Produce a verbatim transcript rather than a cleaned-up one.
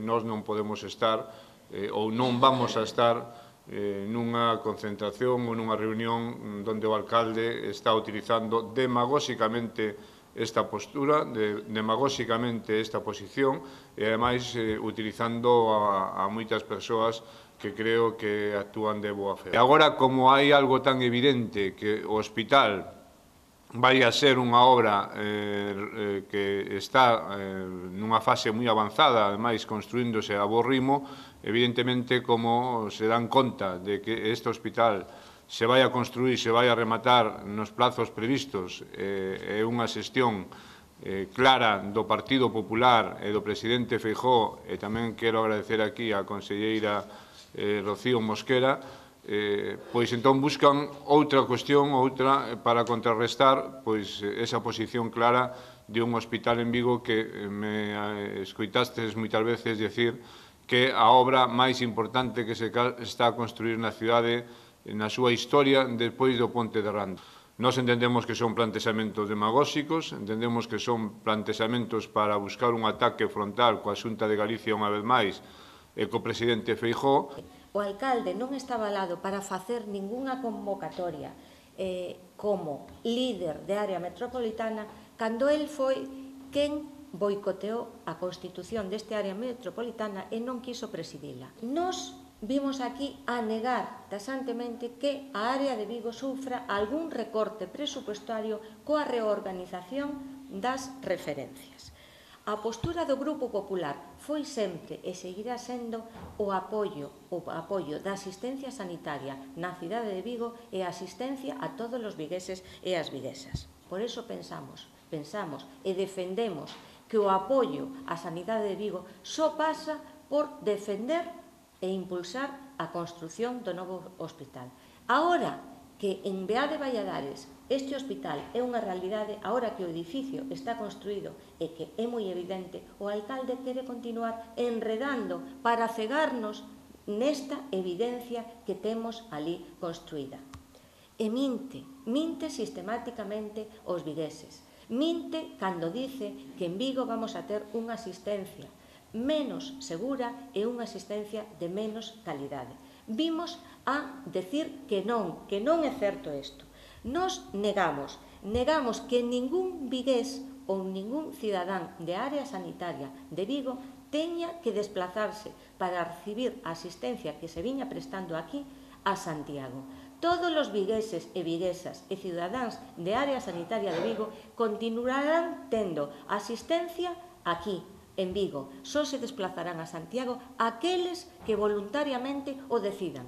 nós non podemos estar eh, ou non vamos a estar eh, nunha concentración ou nunha reunión onde o alcalde está utilizando demagóxicamente esta postura, de, demagóxicamente esta posición e, ademais, eh, utilizando a, a moitas persoas que creo que actúan de boa fe. E agora, como hai algo tan evidente que o hospital vai a ser unha obra eh, que está eh, nunha fase moi avanzada, ademais construíndose a bo ritmo, evidentemente, como se dan conta de que este hospital se vai a construir, se vai a rematar nos plazos previstos, é eh, unha xestión eh, clara do Partido Popular e do presidente Feijóo, e tamén quero agradecer aquí á conselleira eh, Rocío Mosquera, Eh, pois entón buscan outra cuestión, outra para contrarrestar pois esa posición clara de un hospital en Vigo que me escoitastes moitas veces decir que a obra máis importante que se está a construir na cidade na súa historia despois do Ponte de Rando. Nós entendemos que son plantexamentos demagóxicos, entendemos que son plantexamentos para buscar un ataque frontal coa Xunta de Galicia unha vez máis e co presidente Feijóo. O alcalde non está avalado para facer ningunha convocatoria eh, como líder de área metropolitana cando el foi quen boicoteou a constitución deste área metropolitana e non quiso presidila. Nos vimos aquí a negar taxantemente que a área de Vigo sufra algún recorte presupuestario coa reorganización das referencias. A postura do Grupo Popular foi sempre e seguirá sendo o apoio, o apoio da asistencia sanitaria na cidade de Vigo e a asistencia a todos os vigueses e as viguesas. Por iso pensamos, pensamos e defendemos que o apoio á sanidade de Vigo só pasa por defender e impulsar a construción do novo hospital. Agora que en Beá de Valladares este hospital é unha realidade, agora que o edificio está construído e que é moi evidente, o alcalde quere continuar enredando para cegarnos nesta evidencia que temos ali construída. E minte, minte sistemáticamente os vigueses. Minte cando dice que en Vigo vamos a ter unha asistencia menos segura e unha asistencia de menos calidade. Vimos a decir que non, que non é certo isto. Nos negamos, negamos que ningún vigués ou ningún cidadán de área sanitaria de Vigo teña que desplazarse para recibir a asistencia que se viña prestando aquí a Santiago. Todos os vigueses e viguesas e cidadáns de área sanitaria de Vigo continuarán tendo asistencia aquí, en Vigo. Só se desplazarán a Santiago aqueles que voluntariamente o decidan.